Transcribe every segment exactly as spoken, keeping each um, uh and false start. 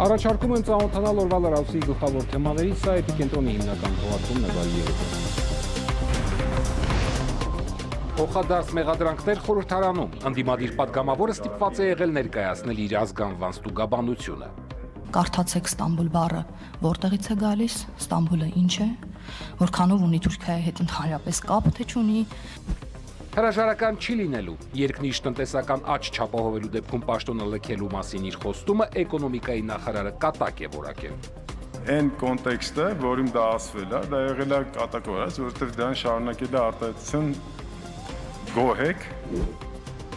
Առաջարկում եմ ծանոթանալ օրվա լրացուցի գլխավոր թեմաներից, սա էպիկենտրոնի հիմնական թողարկումն է վայրի երեկոն։ Փոխադարձ մեղադրանքներ խորհրդարանում, ընդդիմադիր պատգամավորը ստիպված է եղել ներկայացնել իր ազգանվան ստուգաբանությունը։ Կարդացեք Ստամբուլ բառը, որտեղից է գալիս, Ստամբուլը ինչ է, որքանով ունի Թուրքիայի հետ ընդհանրապես կապ, թե չունի։ Հրաժարական չի լինելու, երկնիշ տնտեսական աճ չապահովելու դեպքում պաշտոնը լքելու մասին իր խոստումը էկոնոմիկայի նախարարը կատակ է որակել։ Այն կոնտեքստը, որում դա ասվել է, դա եղել է կատակորած, որովհետև դրան շարունակել է արտահայտություն գոհեք։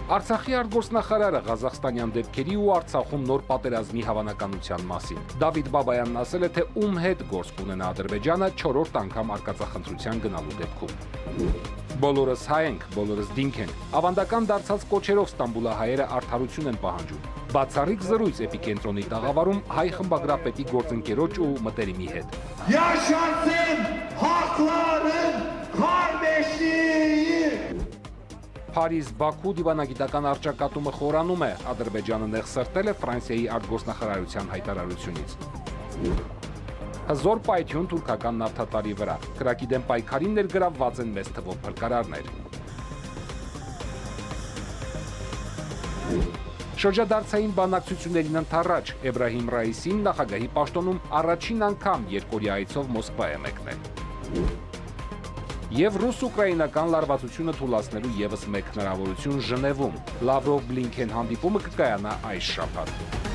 Արցախի արտգործնախարարը Ղազախստանյան դեպքերի ու Արցախում նոր պատերազմի հավանականության մասին։ Դավիթ Բաբայանն ասել է, թե ում հետ գործ կունենա Ադրբեջանը չորրորդ անգամ արկածախնդրության գնալու դեպքում։ Բոլորս հայ ենք, բոլորս դինք ենք։ Ավանդական դարձած կոչերով Ստամբուլահայերը արդարություն են պահանջում։ Բացառիկ զրույց էպիկենտրոնի տաղավարում հայ խմբագրապետի գործընկերոջ ու մտերիմի հետ։ Yaşasın hakların kardeşliği! Փարիզ, Բաքու դիվանագիտական առճակատումը խորանում է, Ադրբեջանը նեղսրտել է Ֆրանսիայի արտգործնախարարության հայտարարությունից։ Հզոր պայթյուն թուրքական նավթատարի վրա, կրակի դեմ պայքարին ներգրավված են մեծ թվով փրկարարներ։ Շրջադարձային բանակցություններին ընթառաջ Էբրահիմ Ռայիսին նախագահի պաշտոնում առաջին անգամ երկօրյա այցով Մոսկվա է մեկնել։ Եվ ռուս-ուկրաինական լարվածությունը թուլացնելու ևս մեկ հնարավորություն Ժնևում։ Լավրով-Բլինքեն հանդիպումը կկայանա այս շաբաթ։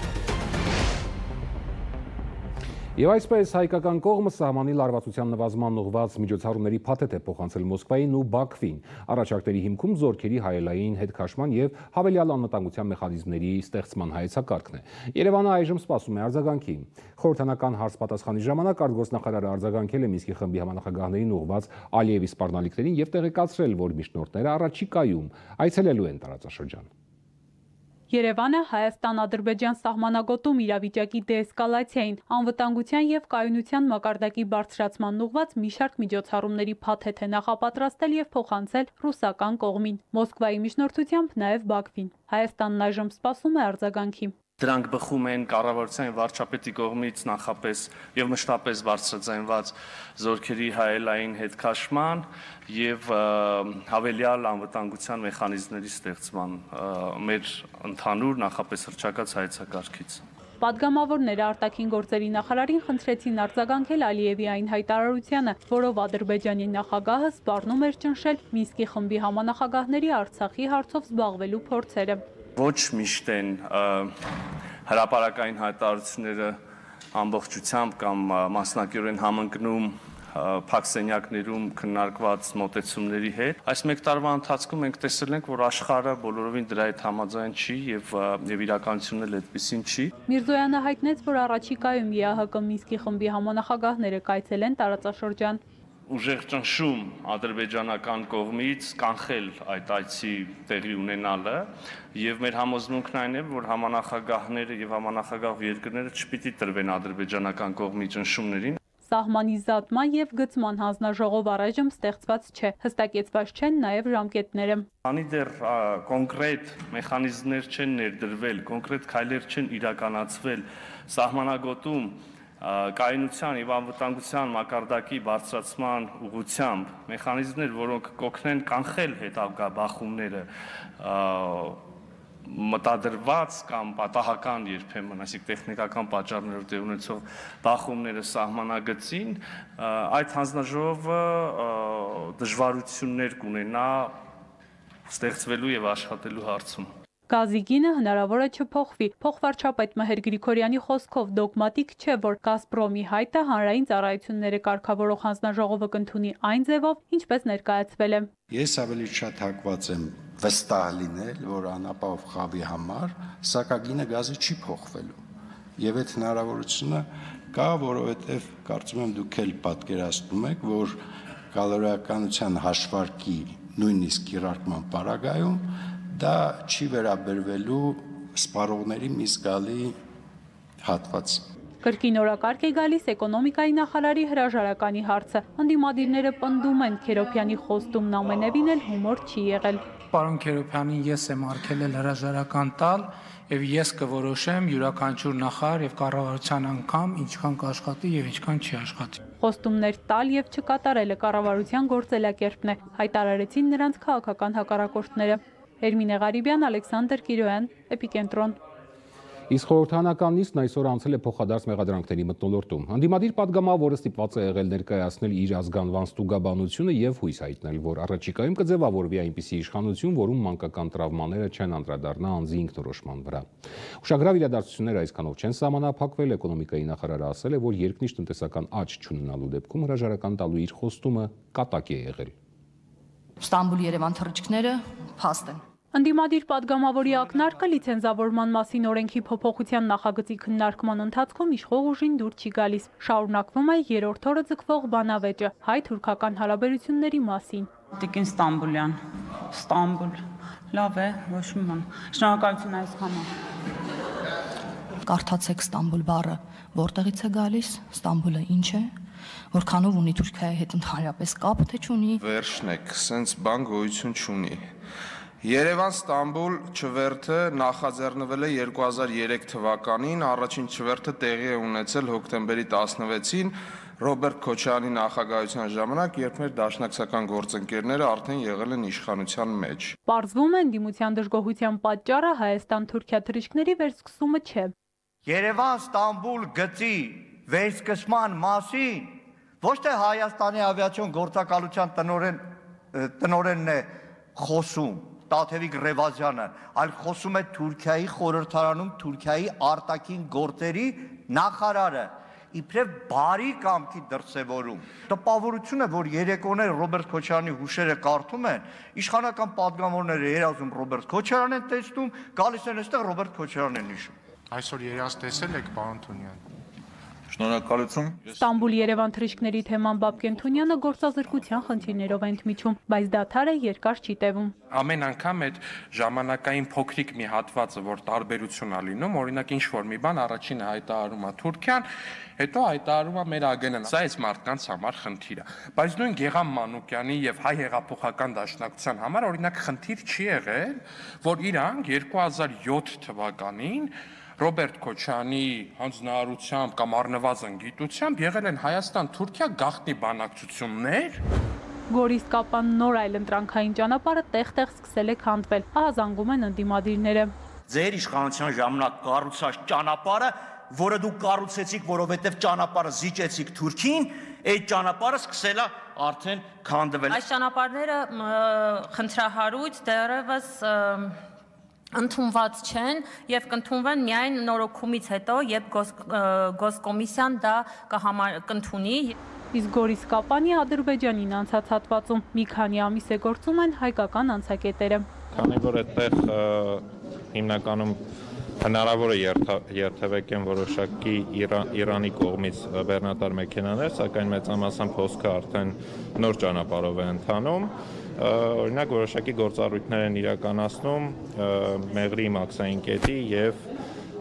Եվ այսպես հայկական կողմը սահմանի լարվածության նվազման ուղղված միջոցառումների փաթեթ է փոխանցել Մոսկվային ու Բաքվին։ Առաջարկների հիմքում զորքերի հայելային հետքաշման եւ հավելյալ անվտանգության մեխանիզմների ստեղծման հայեցակարգն է։ Երևանը այժմ սպասում է արձագանքի։ Խորհրդանական հարց-պատասխանի ժամանակ արտգործնախարարը արձագանքել է Մինսկի խմբի համանախագահներին ուղղված Ալիևի սպառնալիքներին եւ տեղեկացրել, որ միջնորդները առաջիկայում այցելելու են տարածաշրջան։ Երևանը Հայաստան-Ադրբեջան սահմանագոտում իրավիճակի դեէսկալացիային, անվտանգության եւ կայունության մակարդակի բարձրացման ուղղված մի շարք միջոցառումների փաթեթ է նախապատրաստել եւ փոխանցել ռուսական կողմին, Մոսկվայի միջնորդությամբ նաեւ Բաքվին։ Հայաստանն այժմ սպասում է արձագանքի։ Դրանք բխում են կառավարության վարչապետի կողմից նախապես եւ մշտապես բարձրաձայնված զորքերի հայելային հետքաշման եւ հավելյալ անվտանգության մեխանիզմների ստեղծման մեր ընդհանուր նախապես հռչակած հայեցակարգից։ Պատգամավորները արտաքին գործերի նախարարին խնդրեցին արձագանքել Ալիևի այն հայտարարությանը, որով Ադրբեջանի նախագահը սպառնում էր ճնշել Մինսկի խմբի համանախագահների Արցախի հարցով զբաղվելու փորձերը։ Ոչ միշտ են հրապարակային հայտարարությունները ամբողջությամբ կամ մասնակիորեն համընկնում փակ սենյակներում քննարկված մոտեցումների հետ։ Այս մեկ տարվա ընթացքում մենք տեսել ենք, որ աշխարհը բոլորովին դրա հետ համաձայն չի եւ եւ իրականությունն էլ այդպեսին չի։ Միրզոյանը հայտնեց, որ առաջիկայում ԵԱՀԿ Մինսկի խմբի համանախագահները կայցելեն տարածաշրջան։ Ուժեղ ճնշում ադրբեջանական կողմից կանխել այդ այցի տեղի ունենալը եւ մեր համոզմունքն այն է, որ համանախագահները եւ համանախագահ երկրները չպիտի տրվեն ադրբեջանական կողմի ճնշումներին։ Սահմանի զատման եւ գծման հանձնաժողով առայժմ ստեղծված չէ, հստակեցված չեն նաեւ ժամկետները։ Անի դեռ կոնկրետ մեխանիզմներ չեն ներդրվել, կոնկրետ քայլեր չեն իրականացվել սահմանագոտում կայունության եւ անվտանգության մակարդակի բարձրացման ուղղությամբ մեխանիզմներ, որոնք կօգնեն կանխել հետագա բախումները, մտադրված կամ պատահական երբեմն, այսինքն տեխնիկական պատճառներով տեղ ունեցող բախումները սահմանագծին, այդ հանձնաժողովը դժվարություններ կունենա ստեղծվելու եւ աշխատելու հարցում։ Գազի գինը հնարավոր է չփոխվի։ Փոխվարչապետ Մհեր Գրիգորյանի խոսքով դոգմատիկ չէ, որ Գազպրոմի հայտը հանրային ծառայությունները կարգավորող հանձնաժողովը կընդունի այն ձևով, ինչպես ներկայացվել է։ Ես ավելի շատ հակված եմ վստահ լինել, որ անապահով խավի համար սակագինը գազը չի փոխվելու։ Եվ այդ հնարավորությունը կա, որովհետև կարծում եմ դուք էլ պատկերացնում եք, որ կալորիականության հաշվարկի նույնիսկ կիրարկման պարագայում դա չի վերաբերվելու սպառողների մի զգալի հատված։ Կրկին օրակարգ է գալիս էկոնոմիկայի նախարարի հրաժարականի հարցը։ Ընդդիմադիրները պնդում են Քերոփյանի խոստումն ամենևին էլ հումոր չի եղել։ Պարոն Քերոփյանին ես եմ արգելել հրաժարական տալ եւ ես կորոշեմ յուրաքանչյուր նախարար եւ կառավարության անգամ ինչքան կաշխատի եւ ինչքան չի աշխատի։ Խոստումներ տալ եւ չկատարելը կառավարության գործելակերպն է, հայտարարեցին նրանց քաղաքական հակառակորդները։ Էրմինե Ղարիբյան, Ալեքսանդր Կիրոյան, Էպիկենտրոն։ Իսկ խորհրդանական նիստն այսօր անցել է փոխադարձ մեղադրանքների մթնոլորտում։ Հանդիմադիր պատգամավորը ստիպված է եղել ներկայացնել իր ազգանվան ստուգաբանությունը եւ հույս հայտնել, որ առաջիկայում կձևավորվի այնպիսի իշխանություն, որում մանկական տրավմաները չեն անդրադառնա անձի ինքնորոշման վրա։ Ուշագրավ իրադարձությունները այսքանով չեն սահմանափակվել, էկոնոմիկայի նախարարը ասել է, որ երկնիշ տնտեսական աճ չունենալու դեպքում հրաժարական տալու իր խոստումը կատակ է եղել։ Ստամբուլ-Երևան թռիչքները փաստ են։ Ընդդիմադիր պատգամավորի ակնարկը լիցենզավորման մասին օրենքի փոփոխության նախագծի քննարկման ընթացքում իշխող ուժին դուր չի գալիս։ Շարունակվում է երրորդ օրը ձգվող բանավեճը հայ-թուրքական հարաբերությունների մասին։ Տիկին Ստամբուլյան, Ստամբուլ, լավ է, ոչ մի բան։ Շնորհակալություն այսքանը։ Կարդացեք Ստամբուլ բառը, որտեղից է գալիս, Ստամբուլը ինչ է, որքանով ունի Թուրքիայի հետ ընդհանրապես կապ, թե չունի։ Վերջնեք, սենց բան գոյություն չունի։ Երևան-Ստամբուլ չվերթը նախաձեռնվել է երկու հազար երեք թվականին, առաջին չվերթը տեղի է ունեցել հոկտեմբերի տասնվեցին Ռոբերտ Քոչարյանի նախագահության ժամանակ, երբ մեր դաշնակցական գործընկերները արդեն եղել են իշխանության մեջ։ Պարզվում է ընդդիմության դժգոհության պատճառը Հայաստան-Թուրքիա թռիչքների վերսկսումը չէ։ Երևան-Ստամբուլ գծի վերսկսման մասին ոչ թե Հայաստանի ավիացիոն գործակալության տնօրեն տնօրենն է խոսում, Տաթևիկ Ռևազյանը, այլ խոսում է Թուրքիայի խորհրդարանում Թուրքիայի արտաքին գործերի նախարարը, իբրև բարի կամքի դրսևորում։ Տպավորություն է, որ երեկոներ Ռոբերտ Քոչարյանի հուշերը կարդում են, իշխանական պատգամավորները երազում Ռոբերտ Քոչարյանն են տեսնում, գալիս են այստեղ Ռոբերտ Քոչարյանն են հիշում։ Այսօր երազ տեսել եք, պարոն Թունյան։ Շնորհակալություն։ Ստամբուլ-Երևան թռիչքների թեման Բաբկեն Թունյանը գործազրկության խնդիրներով է ընդմիջում, բայց դադարը երկար չի տևում։ Ամեն անգամ այդ ժամանակային փոքրիկ մի հատվածը, որ տարբերություն է լինում, օրինակ ինչ որ մի բան առաջինը հայտարարում է Թուրքիան, հետո հայտարարում է մեր ագենան։ Սա այս մարդկանց համար խնդիր է։ Բայց նույն Գեգամ Մանուկյանի եւ հայ հեղափոխական դաշնակցության համար օրինակ խնդիր չի եղել, որ իրանք երկու հազար յոթ թվականին Ռոբերտ Քոչարյանի հանձնարարությամբ կամ առնվազն գիտությամբ եղել են Հայաստան-Թուրքիա գաղտնի բանակցություններ։ Գորիս Կապան նոր այլ ընտրանքային ճանապարհը տեղ-տեղ սկսել է քանդվել, ահա զանգում են ընդդիմադիրները։ Ձեր իշխանության ժամանակ կառուցած ճանապարհը, որը դուք կառուցեցիք, որովհետև ճանապարհը զիջեցիք Թուրքին, այդ ճանապարհը սկսել է արդեն քանդվել։ Այս ճանապարհները խնդրահարույց դեռևս ընդունված չեն եւ կընդունվեն միայն նորոգումից հետո, երբ գոսկոմիսիան դա կընդունի։ Իսկ Գորիս Կապանի Ադրբեջանին անցած հատվածում մի քանի ամիս է գործում են հայկական անցակետերը։ Քանի որ այդտեղ հիմնականում հնարավոր է երթևեկեն որոշակի Իրանի կողմից բեռնատար մեքենաներ, սակայն մեծամասամբ հոսքը արդեն նոր ճանապարհով է ընթանում։ Օրինակ որոշակի գործառույթներ են իրականացնում Մեղրի մաքսային կետի եւ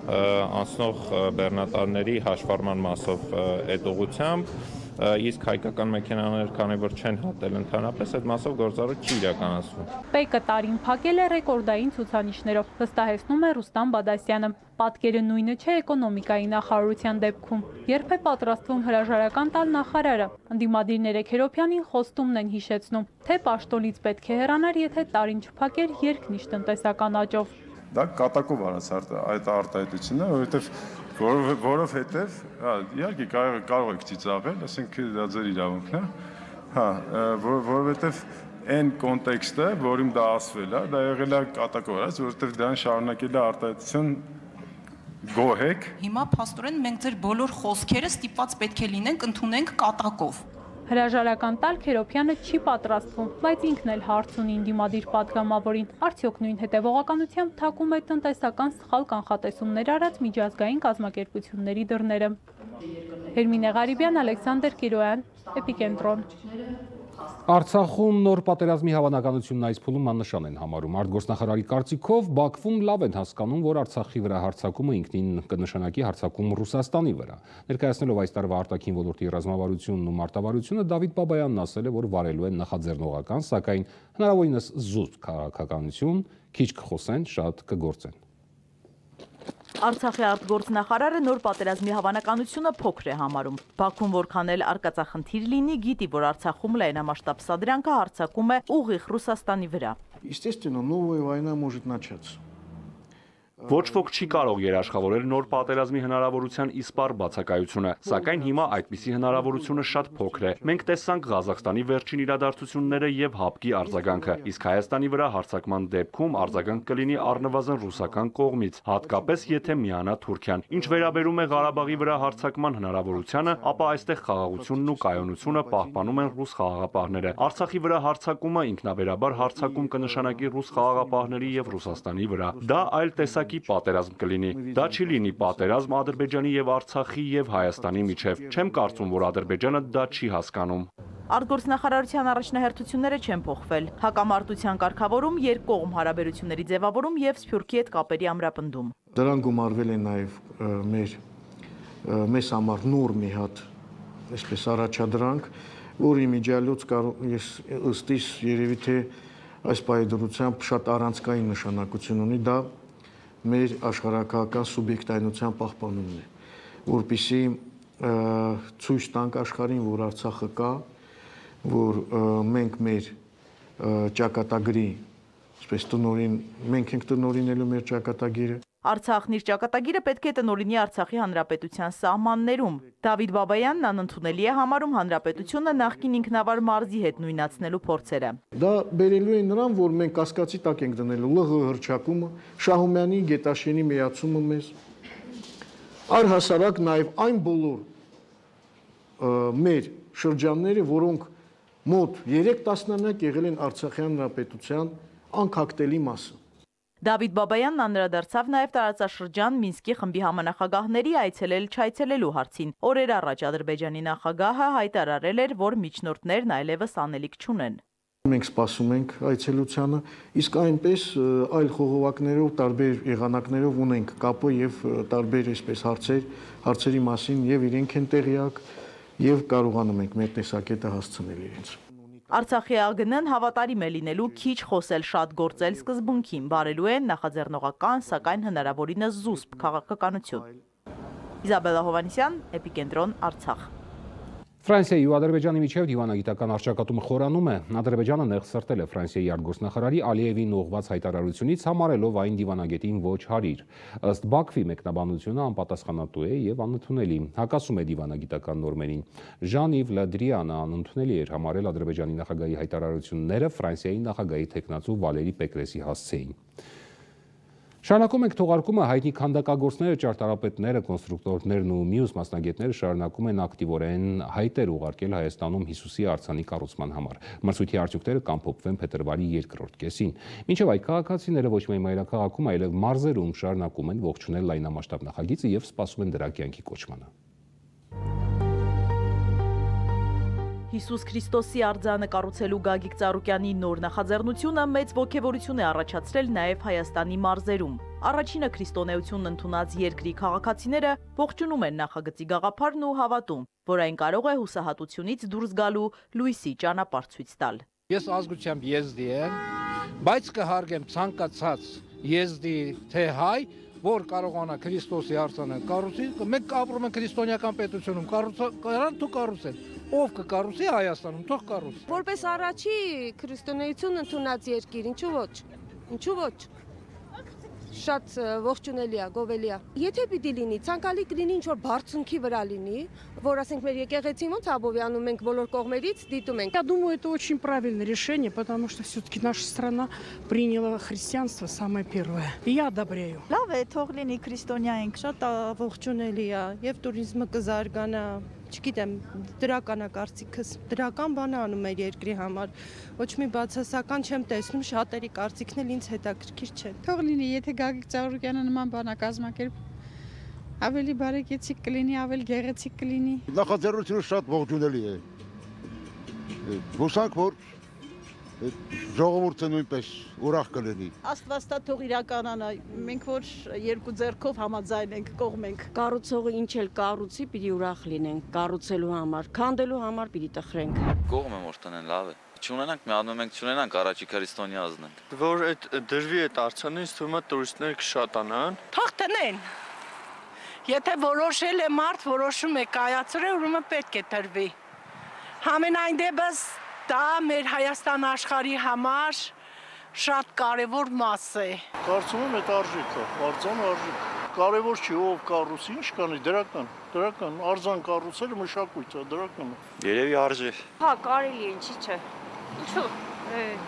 անցնող բեռնատարների հաշվառման մասով այդ ուղղությամբ, իսկ հայկական մեքենաներ, քանի որ չեն հատել ընդհանրապես, այդ մասով գործառույթ չի իրականացվում։ Պեկը տարին փակել է ռեկորդային ցուցանիշներով, վստահեցնում է Ռուստամ Բադասյանը։ Պատկերը նույնը չէ էկոնոմիկայի նախարարության դեպքում։ Երբ է պատրաստվում հրաժարական տալ նախարարը, ընդդիմադիրները Քերոփյանին խոստումն են հիշեցնում, թե պաշտոնից պետք է հեռանար, եթե տարին չփակեր երկնիշ տնտեսական աճով։ Դա կատակով արած այդ արտահայտությունը, որովհետև որովհետև, հա, իհարկե կարող կարող եք ծիծաղել, ասենք դա ձեր իրավունքն է, հա, որովհետև այն կոնտեքստը, որում դա ասվել է, դա եղել է կատակով արած, որովհետև դրան շարունակել է արտահայտություն գոհեք։ Հիմա փաստորեն մենք ձեր բոլոր խոսքերը ստիպված պետք է լինենք ընդունենք կատակով։ Հրաժարական տալ Քերոփյանը չի պատրաստվում, բայց ինքն էլ հարց ունի ընդդիմադիր պատգամավորին, արդյոք նույն հետևողականությամբ թակում է տնտեսական սխալ կանխատեսումներ արած միջազգային կազմակերպությունների դռները։ Էրմինե Ղարիբյան, Ալեքսանդր Կիրոյան, Էպիկենտրոն։ Արցախում նոր պատերազմի հավանականությունն այս փուլում աննշան են համարում։ Արտգործնախարարի կարծիքով Բաքվում լավ են հասկանում, որ Արցախի վրա հարձակումը ինքնին կնշանակի հարձակում Ռուսաստանի վրա։ Ներկայացնելով այս տարվա արտաքին ոլորտի ռազմավարությունն ու մարտավարությունը, Դավիթ Բաբայանն ասել է, որ վարելու են նախաձեռնողական, սակայն հնարավորինս զուսպ քաղաքականություն, քիչ կխոսեն, շատ կգործեն։ Արցախի արտգործնախարարը նոր պատերազմի հավանականությունը փոքր է համարում։ Բաքուն որքան էլ արկածախնդիր լինի, գիտի, որ Արցախում լայնամասշտաբ սադրանքը հարձակում է ուղիղ Ռուսաստանի վրա։ Естественно, новая война может начаться. Ոչ ոք չի կարող երաշխավորել նոր պատերազմի հնարավորության իսպառ բացակայությունը, սակայն հիմա այդպիսի հնարավորությունը շատ փոքր է։ Մենք տեսանք Ղազախստանի վերջին իրադարձությունները եւ ՀԱՊԿ-ի արձագանքը, իսկ Հայաստանի վրա հարձակման դեպքում արձագանք կլինի առնվազն ռուսական կողմից, հատկապես եթե միանա Թուրքիան։ Ինչ վերաբերում է Ղարաբաղի վրա հարձակման հնարավորությանը, ապա այստեղ խաղաղությունն ու կայունությունը պահպանում են ռուս խաղաղապահները։ Արցախի վրա հարձակումը ինքնաբերաբար հարձակում կնշանակի ռուս խաղաղապահների եւ Ռուսաստանի վրա։ Դա այլ տեսակ պատերազմ կլինի։ Դա չի լինի պատերազմ Ադրբեջանի եւ Արցախի եւ Հայաստանի միջև։ Չեմ կարծում, որ Ադրբեջանը դա չի հասկանում։ Արտգործնախարարության առաջնահերթությունները չեն փոխվել։ Հակամարտության կարգավորում, երկկողմ հարաբերությունների ձևավորում եւ Սփյուռքի հետ կապերի ամրապնդում։ Դրան գումարվել է նաեւ մեր մեզ համար նոր մի հատ, այսպես առաջադրանք, որի միջալոց ես ըստ իս երևի թե այս պայդրությամբ շատ առանցքային նշանակություն ունի, դա մեր աշխարհակահական սուբյեկտայնության պահպանումն է, որպեսզի ցույց տանք աշխարհին, որ Արցախը կա, որ մենք մեր ճակատագրի, այսպես տնօրին, մենք ենք տնօրինելու մեր ճակատագիրը։ Արցախն իր ճակատագիրը պետք է տնօրինի Արցախի Հանրապետության սահմաններում։ Դավիթ Բաբայանն անընդունելի է համարում հանրապետությունը նախկին ինքնավար մարզի հետ նույնացնելու փորձերը։ Դա բերելու է նրան, որ մենք կասկածի տակ ենք դնելու ԼՂՀ հռչակումը, Շահումյանի, Գետաշենի միացումը մեզ, առհասարակ նաև այն բոլոր մեր շրջանները, որոնք մոտ երեք տասնամյակ եղել են Արցախի Հանրապետության անկախտելի մասը։ Դավիթ Բաբայանն անդրադարձավ նաև տարածաշրջան Մինսկի խմբի համանախագահների այցելել չայցելելու հարցին։ Օրեր առաջ Ադրբեջանի նախագահը հայտարարել էր, որ միջնորդներն այլևս անելիք չունեն։ Մենք սպասում ենք այցելությանը, իսկ այնպես այլ խողովակներով, տարբեր եղանակներով ունենք կապը եւ տարբեր այսպես հարցեր, հարցերի մասին եւ իրենք են տեղյակ եւ կարողանում ենք մեր տեսակետը հասցնել իրենց։ Արցախի ԱԳՆ-ն հավատարիմ է լինելու քիչ խոսել շատ գործել սկզբունքին, բարելու են նախաձեռնողական, սակայն հնարավորինս զուսպ քաղաքականություն։ Իզաբելլա Հովհաննիսյան, Էպիկենտրոն, Արցախ։ Ֆրանսիայի ու Ադրբեջանի միջև դիվանագիտական առճակատումը խորանում է։ Ադրբեջանը նեղսրտել է Ֆրանսիայի արտգործնախարարի Ալիևին ուղղված հայտարարությունից, համարելով այն դիվանագետին ոչ հարիր։ Ըստ Բաքվի մեկնաբանությունը անպատասխանատու է եւ անընդունելի, հակասում է դիվանագիտական նորմերին։ Ժան-Իվ Լը Դրիանը անընդունելի էր համարել Ադրբեջանի նախագահի հայտարարությունները Ֆրանսիայի նախագահի թեկնածու Վալերի Պեկրեսի հասցեին։ Շարունակում ենք թողարկումը, հայտնի քանդակագործները, ճարտարապետները, կոնստրուկտորներն ու մյուս մասնագետները շարունակում են ակտիվորեն հայտեր ուղարկել Հայաստանում Հիսուսի արձանի կառուցման համար։ Մրցույթի արդյունքները կամփոփվեն փետրվարի երկրորդ կեսին։ Մինչև այդ քաղաքացիները ոչ միայն մայրաքաղաքում, այլև մարզերում շարունակում են ողջունել լայնամասշտաբ նախագիծը եւ սպասում են դրա կյանքի կոչմանը։ Հիսուս Քրիստոսի արձանը կառուցելու Գագիկ Ծառուկյանի նոր նախաձեռնությունը մեծ ոգևորություն է առաջացրել նաև Հայաստանի մարզերում։ Առաջինը քրիստոնեությունն ընդունած երկրի քաղաքացիները ողջունում են նախագծի գաղափարն ու հավատում, որ այն կարող է հուսահատությունից դուրս գալու լույսի ճանապարհ ցույց տալ։ Ես ազգությամբ եզդի եմ, բայց կհարգեմ ցանկացած եզդի թե հայ, որ կարողանա Քրիստոսի արձանը կառուցի, մենք ապրում ենք քրիստոնեական պետությունում, կարան դու կառուցել, ով կկառուցի Հայաստանում, թող կառուցի։ Որպես առաջի քրիստոնեություն ընդունած երկիր, ինչու ոչ, ինչու ոչ, շատ ողջունելի է, գովելի է։ Եթե պիտի լինի, ցանկալի կլինի ինչ-որ բարձունքի վրա լինի, որ ասենք մեր եկեղեցին ոնց Աբովյանում մենք բոլոր կողմերից դիտում ենք։ Я думаю, это очень правильное решение, потому что все-таки наша страна приняла христианство самое первое. И я одобряю. Լավ է, թող լինի քրիստոնյա ենք, շատ ողջունելի է, եւ туриզմը կզարգանա, չգիտեմ, դրական է կարծիքս, դրական բան է անում մեր երկրի համար, ոչ մի բացասական չեմ տեսնում, շատերի կարծիքն էլ ինձ հետաքրքիր չէ։ Թող լինի, եթե Գագիկ Ծառուկյանը նման բան կազմակերպ, ավելի բարեկեցիկ կլինի, ավելի գեղեցիկ կլինի։ Նախաձեռնությունը շատ ողջունելի է։ Հուսանք, որ ժողովուրդը նույնպես ուրախ կլինի։ Աստվածտա թող իրականանա, մենք որ երկու ձեռքով համաձայն ենք, կողմ ենք։ Կառուցողը ինչ էլ կառուցի, պիտի ուրախ լինենք, կառուցելու համար, քանդելու համար պիտի տխրենք։ Կողմ եմ որ տնեն լավ է։ Չունենանք, մի անում ենք, չունենանք, առաջի քրիստոնյա ազնենք։ Որ այդ դրվի այդ արցանը, ինձ թվում է տուրիստներ կշատանան։ Թող տնեն։ Եթե որոշել է մարդ, որոշում է կայացրել, ուրեմն պետք է տրվի։ Համենայն դեպս դա մեր Հայաստան աշխարհի համար շատ կարևոր մաս է։ Կարծում եմ այդ արժեքը, արձան արժեք։ Կարևոր չի ով կառուցի, ինչ կանի, դրական, դրական, արձան կառուցելը մշակույթ է, դրական է։ Երևի արժե։ Հա, կարելի է, ինչի՞ չէ։ Ինչու՞։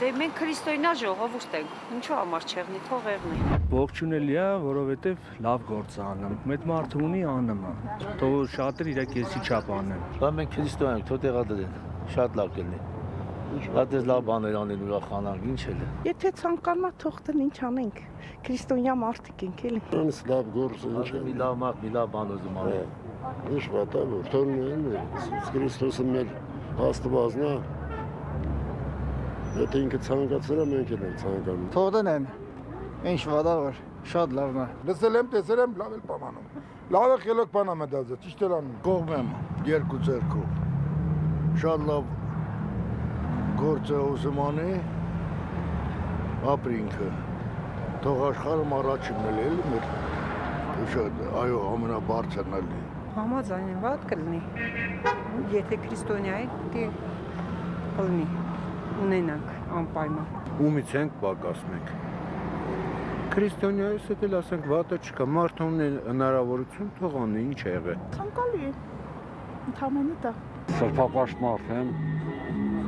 Դե մենք քրիստոնյա ժողովուրդ ենք, ինչու համար չեղնի, թող եղնի։ Ողջունելի է, որովհետև լավ գործ է անում, մեծ մարդը ունի անում է, թող շատեր իր կեսի չափ անեն։ Բա մենք քրիստոնյա ենք, թող տեղադրեն, շատ լավ կլինի։ Դες լավ բաներ անեն ուրախանանք, ինչ էլ է։ Եթե ցանկանա թող տնեն, ինչ անենք։ Քրիստոնյա մարդիկ ենք էլի։ Ինձ լավ գործ է, ինչ է։ Մի լավ մարդ, մի լավ բան ուզում անել։ Ինչ վատ է, որ թողնեն, Հիսուս Քրիստոսը մեր Աստվածն է։ Եթե ինքը ցանկացել է, մենք էլ ենք ցանկանում։ Թող տնեն, ինչ վատ է, որ շատ լավն է։ Լսել եմ, տեսել եմ, լավ էլ բան անում։ Լավ է խելոք բան է մտածել, ճիշտ էլ անում։ Կողմ եմ երկու ձեռքով։ Շատ լավ գործ է ուզում անի, ապրի ինքը։ Թող աշխարհում առաջինն էլ էլի մեր շատ այո ամենաբարձրն էլի։ Համաձայն եմ, վատ կլինի։ Եթե քրիստոնյա է, դե կլինի, ունենանք անպայման։ Ումից ենք պակաս մենք։ Քրիստոնյայից էլ ասենք վատը չկա, մարդը ունի հնարավորություն, թող անի, ինչ է եղել։ Ցանկալի է, ընդհանրապես դա։ Սրբապաշտ եմ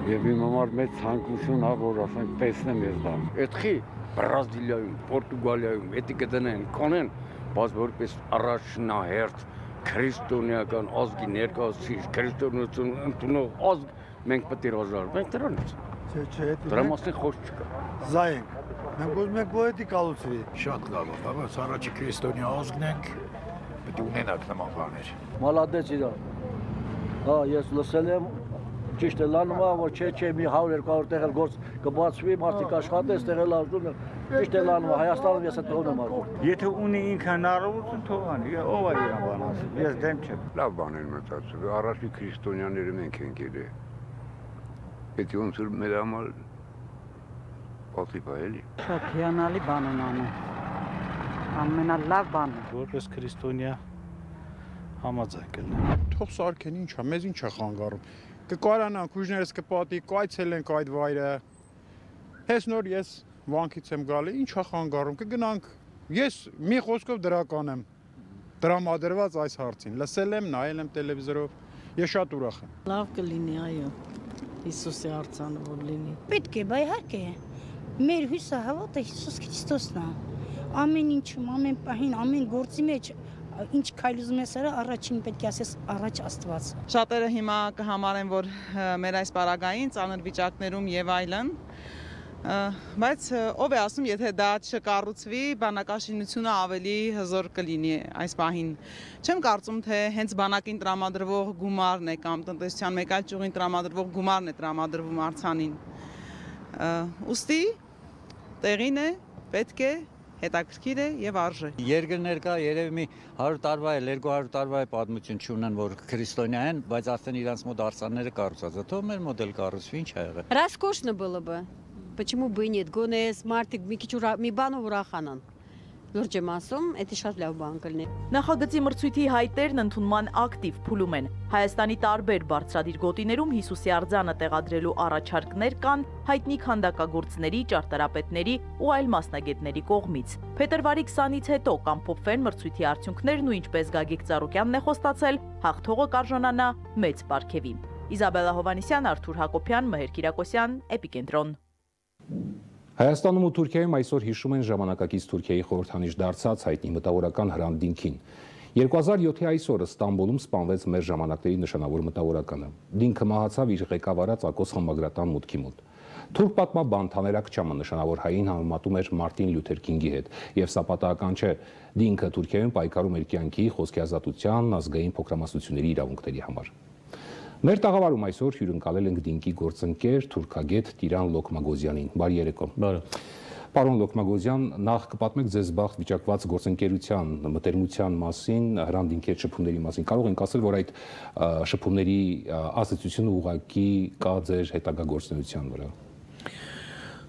եւ իմ համար մեծ ցանկություն է, որ ասենք տեսնեմ ես դա։ Էդխի Բրազիլիայում, Պորտուգալիայում, էդի կդնեն, կանեն, բայց որպես առաջնահերթ քրիստոնեական ազգի ներկայացուցիչ, քրիստոնեություն ընդունող ազգ մենք պետք է հրաժարվենք, մենք դրանից։ Չէ, չէ, դրա մասին խոսք չկա։ Զայենք, մենք ուզում ենք որ էդի կալուցվի։ Շատ լավ է, բայց առաջի քրիստոնյա ազգն ենք, պետք է ունենանք նման բաներ։ Մալադեց իրա։ Հա, ես լսել եմ, ճիշտ է լանում է, որ չէ, չէ, մի հարյուր երկու հարյուր տեղ էլ գործ կբացվի, մարդիկ աշխատեն, ստեղ էլ ազդում են։ Ճիշտ է լանում է, Հայաստանում ես այդ տողն եմ արվում։ Եթե ունի ինքը հնարավորություն թող անի, ով է իրան բան ասել, ես դեմ չեմ։ Լավ բան են մտածել, առաջի քրիստոնյաները մենք ենք ելել։ Պետք է ոնց որ մեր համար պատիվ է էլի։ Շատ հիանալի բան են անում։ Ամենալավ բանը։ Որպես քրիստոնյա համաձայն կլինեմ։ Թող սարքեն, ինչ է, մեզ ինչ է խանգարում։ Կկարանանք, ուժներս կպատի, կայցելենք այդ վայրը։ Հես նոր ես վանքից եմ գալի, ինչ է խանգարում, կգնանք։ Ես մի խոսքով դրական եմ տրամադրված այս հարցին։ Լսել եմ, նայել եմ տելևիզորով, ես շատ ուրախ եմ։ Լավ կլինի, այո։ Հիսուսի արձանը որ լինի։ Պետք է, բայ իհարկե։ Մեր հույսը հավատը Հիսուս Քրիստոսն է։ Ամեն ինչում, ամեն պահին, ամեն գործի մեջ ինչ քայլ ուզում ես արա, առաջին պետք է ասես առաջ Աստված։ Շատերը հիմա կհամարեն, որ մեր այս պարագային ծանր վիճակներում եւ այլն, բայց ով է ասում, եթե դա չկառուցվի, բանակաշինությունը ավելի հզոր կլինի այս պահին։ Չեմ կարծում, թե հենց բանակին տրամադրվող գումարն է կամ տնտեսության մեկ այլ ճյուղին տրամադրվող գումարն է տրամադրվում արձանին։ Ուստի տեղին է, պետք է հետաքրքիր է եւ արժե։ Երկրներ կա երևի մի հարյուր տարվա է, երկու հարյուր տարվա է պատմություն չունեն, որ քրիստոնյա են, բայց արդեն իրանց մոտ արձանները կառուցած է։ Թող մեր մոդել կառուցվի, ինչ ա եղել։ Роскошно было бы. Почему бы и нет? Գոնես մարդիկ մի քիչ մի բան ուրախանան։ Լուրջ եմ ասում, դա շատ լավ բան կլինի։ Նախագծի մրցույթի հայտերն ընդունման ակտիվ փուլում են։ Հայաստանի տարբեր բարձրադիր գոտիներում Հիսուսի արձանը տեղադրելու առաջարկներ կան հայտնի քանդակագործների, ճարտարապետների ու այլ մասնագետների կողմից։ Փետրվարի քսանից հետո կամփոփվեն մրցույթի արդյունքներն ու ինչպես Գագիկ Ծառուկյանն է խոստացել, հաղթողը կարժանանա մեծ պարգևի։ Իզաբելլա Հովանեսյան, Արթուր Հակոբյան, Մհեր Կիրակոսյան, Էպիկենտրոն։ Հայաստանում ու Թուրքիայում այսօր հիշում են ժամանակակից Թուրքիայի խորհրդանիշ դարձած հայտնի մտավորական Հրանտ Դինքին։ երկու հազար յոթի այսօրը Ստամբուլում սպանվեց մեր ժամանակների նշանավոր մտավորականը։ Դինքը մահացավ իր ղեկավարած Ակոս խմբագրատան մուտքի մոտ։ Թուրք պատմաբան Թաներ Աքչամը նշանավոր հային համեմատում էր Մարտին Լյութեր Քինգի հետ, եւ սա պատահական չէ։ Դինքը Թուրքիայում պայքարում էր կյանքի, խոսքի ազատության, ազգային փոքրամասնությունների իրավունքների համար։ Մեր տաղավարում այսօր հյուրընկալել ենք Դինկի գործընկեր թուրքագետ Տիրան Լոկմագոզյանին։ Բարի երեկո։ Բարի։ Պարոն Լոկմագոզյան, նախ կպատմեք ձեզ բախտ վիճակված գործընկերության մտերմության մասին, Հրանտ Դինքի հետ շփումների մասին։ Կարող ենք ասել, որ այդ շփումների ազդեցությունը ուղղակի կա ձեր հետագա գործունեության վրա։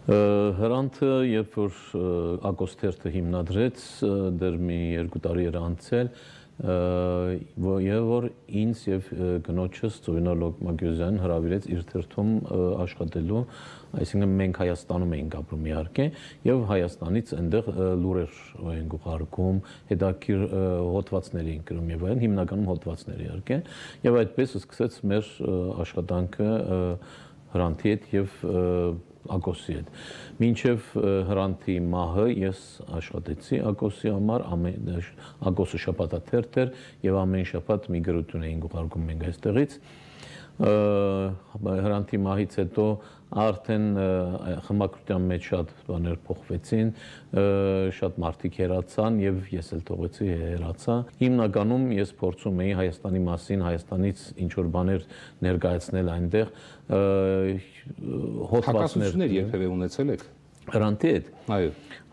Հրանտը, երբ որ Ակոս թերթը հիմնադրեց, դեռ մի երկու տարի էր անցել, եւ որ ինձ եւ գնոջս Ծովինար Լոկմագոզյանին հրավիրեց իր թերթում աշխատելու, այսինքն մենք Հայաստանում էինք ապրում իհարկե, եւ Հայաստանից այնտեղ լուրեր էինք ուղարկում, հետաքրքիր հոդվածներ էինք գրում եւ այլն, հիմնականում հոդվածներ իհարկե, եւ այդպես սկսեց մեր աշխատանքը Հրանտի հետ եւ Ակոսի հետ։ Մինչև Հրանտի մահը ես աշխատեցի Ակոսի համար, Ակոսը շաբաթաթերթ էր եւ ամեն շաբաթ մի գրություն էինք ուղարկում մենք այստեղից։ Հրանտի մահից հետո արդեն խմբակրության մեջ շատ բաներ փոխվեցին, շատ մարդիկ հեռացան եւ ես էլ թողեցի հեռացա։ Հիմնականում ես փորձում էի Հայաստանի մասին, Հայաստանից ինչ որ բաներ ներկայացնել այնտեղ, հակասություններ երբևէ ունեցել եք Հրանտի հետ։ Այո։